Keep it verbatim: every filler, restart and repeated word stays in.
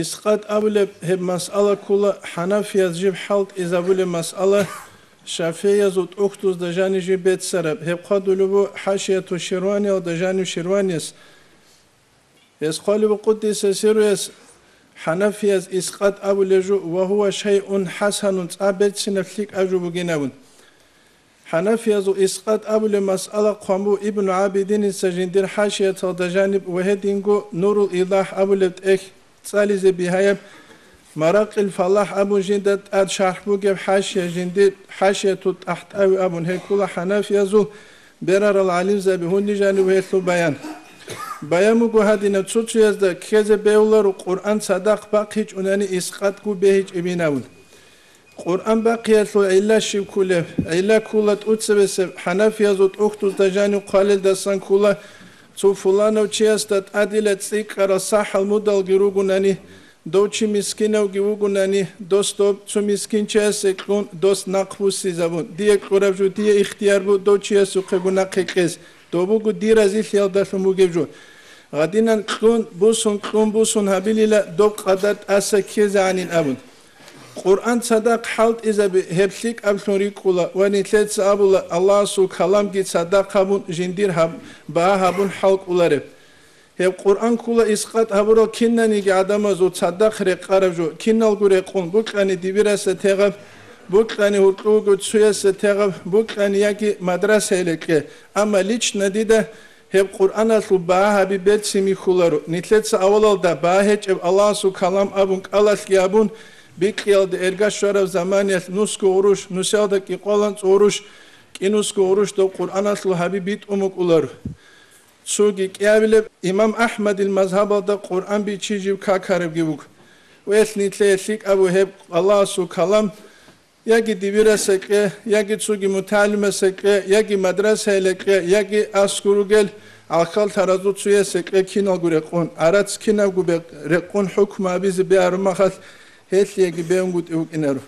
Искъат абулеб гьеб масъала ккола хӀанафияз жиб хӀалтӀизабулеб масъала, шафигӀиязул тӀухьдузда жанив жиб беццараб, гьеб хъвадулеб буго ХӀашияту Ширваниялда жанив Ширванияс. Гьес хъвалеб буго къуддиса сирругьу, хӀанафияз искъат абулеб жо, ва гьува шайъун хӀасанун, цӀа берцинаб лъикӀаб жо бугин абун. ХӀанафиязул искъат абулеб масъала хъван буго Ибну ГӀабидиница жиндир хӀашияталда жаниб ва гьединго Нурул Идахь абулеб тӀехь цӀализе бигьаяб, Маракъил Фалахь абун жинда тӀад шархӀ бугеб хӀашия, жиндир ХӀашияту ТӀахӀтӀави абун, гьеб ккола хӀанафиязул берарал гӀалимзаби гьуни жаниб гьелъул баян. Баян буго гьадинаб: цо-цоязда ккезе бегьуларо Къуръан цадахъ бахъичӀунани искъатго бегьичӀебин абун. Къуръан бахъиялъул гӀилла щиб кколеб? ГӀилла ккола тӀоцебесеб, хӀанафиязул тӀухьдузда жанив хъвалелдасан ккола, цо фуланав чиясда тӀадила цӀикӀкӀарал сахӀал мудалги ругунани, дов чи мискинавги вугунани, дос доб цо мискинчиясе кьун, дос нахъ буссизабун, дие кьураб жо дие ихтияр бу дов чиясухъего нахъе кьез, дов буго дир разилъиялдалъун бугеб жо. Гьадинан кьун, бусун, кьун, бусун гьабилила доб къадар тӀаса ккезегӀанин абун. Къуръан цадахъ хӀалтӀизаби гьеб лъикӀаблъун рикӀкӀула ва нилъеца абула Аллагьасул каламги цадахъ гьабун жиндир гьаб-, багьа гьабун хӀалкӀолареб. Гьеб Къуръан ккола искъат гьабурал кинаниги гӀадамазул цадахъ рекъараб жо, киналго рекъун, букьани дибираса тегъаб, букьани гьуркьуго цуяса тегъаб, букьани яги мадрасаялда кье, амма лично дида гьеб Къуръаналъул багьа гьаби берцин михьуларо. Нилъеца авалалда багьа гьечӀеб Аллагьасул калам абун кӀалалъги абун, бикьиялда эрга щвараб заманиялъ нусго гъурущ, нусиялда кӀикъоялда анцӀ гъурущ, кӀинусго гъурущ доб Къуръаналъул гьаби битӀун букӀуларо. Цоги кӀиабилеб имам АхӀмадил мазгьабалда Къуръан бичи жив какарабги вуго. Ва гьелъ нилъее лъикӀаб буго гьеб Аллагьасул калам, яги дибираса кье, яги цоги мутагӀалимаса кье, яги мадрасаялда кье, яги аскӀор ругел гӀалхьаллъаразул цояса кье киналго рекъон, гӀарац кинабго бе-, рекъон хӀукму гьабизе бегьараб мехалъ, гьелъиеги бегьунгутӀи букӀинаро.